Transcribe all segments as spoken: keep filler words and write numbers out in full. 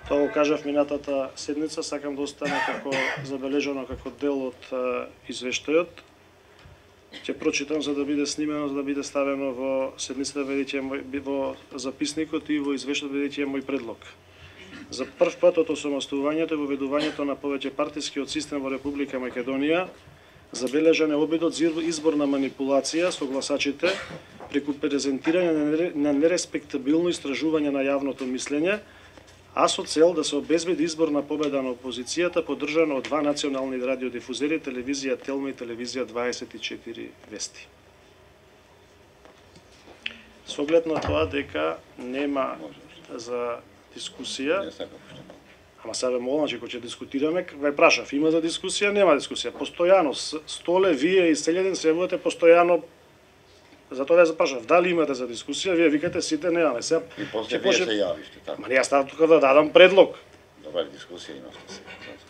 Тоа го кажав минатата седница, сакам да остане како забележано како дел од извештајот. Ќе прочитам за да биде снимено, за да биде ставено во седницата, бидејќи во записникот и во извештајот, бидејќи е мој предлог. За прв пат од осамостојувањето и воведувањето на повеќе партискиот систем во Република Македонија забележан е обидот за избор на манипулација со гласачите преку презентирање на нереспектабилно истражување на јавното мислење, а со цел да се обезбеди изборна победа на опозицијата, поддржана од два национални радиодифузери, телевизија Телма и телевизија дваесет и четири Вести. Со оглед на тоа дека нема за дискусија, ама сега молам, че кога ќе дискутираме, ве прашав, има за дискусија, нема дискусија. Постојано, Столе, вие и Селјадин се јавувате постојано. Затоа ја запрашав, дали имате за дискусија, вие викате сите немаме. Сега и после вие се јавиште, така. Ма не, јас ставам тука да дадам предлог. Добра дискусија имавте се.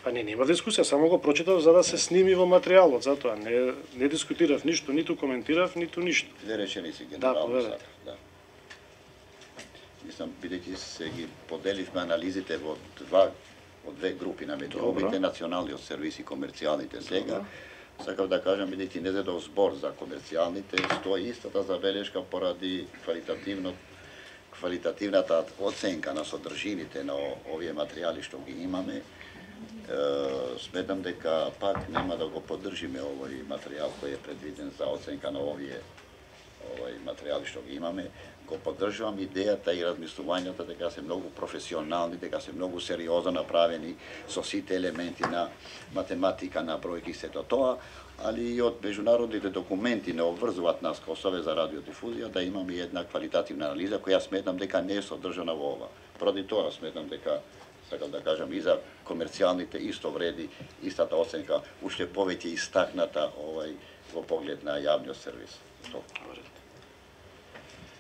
Па не, нема дискусија, само го прочитав за да се сними во материјалот, затоа не не дискутирав ништо, ниту коментирав, ниту ништо. Две реченици генерално да, сакав, да. Мислам, бидејќи се ги поделивме анализите во два од две групи на медиумите, националниот сервис и комерцијалните сега. Сакав да кажам, бидејќи не зедов збор за комерцијалните, стои истата забелешка поради квалитативно квалитативната оценка на содржините на овие материјали што ги имаме. Е, сметам дека пак нема да го поддржиме овој материјал кој е предвиден за оценка на овие овој материјали што ги имаме. Го поддржувам идејата и размислувањата дека се многу професионални, дека се многу сериозно направени со сите елементи на математика, на бројки, сето тоа, али и од меѓународните документи не обврзуваат нас како Совет за радиодифузија да имаме една квалитативна анализа која сметам дека не е содржана во ова. Поради тоа сметам дека, сакам да кажам, и за комерцијалните исто вреди истата оценка, уште повеќе истакната овај во поглед на јавниот сервис. Тоа.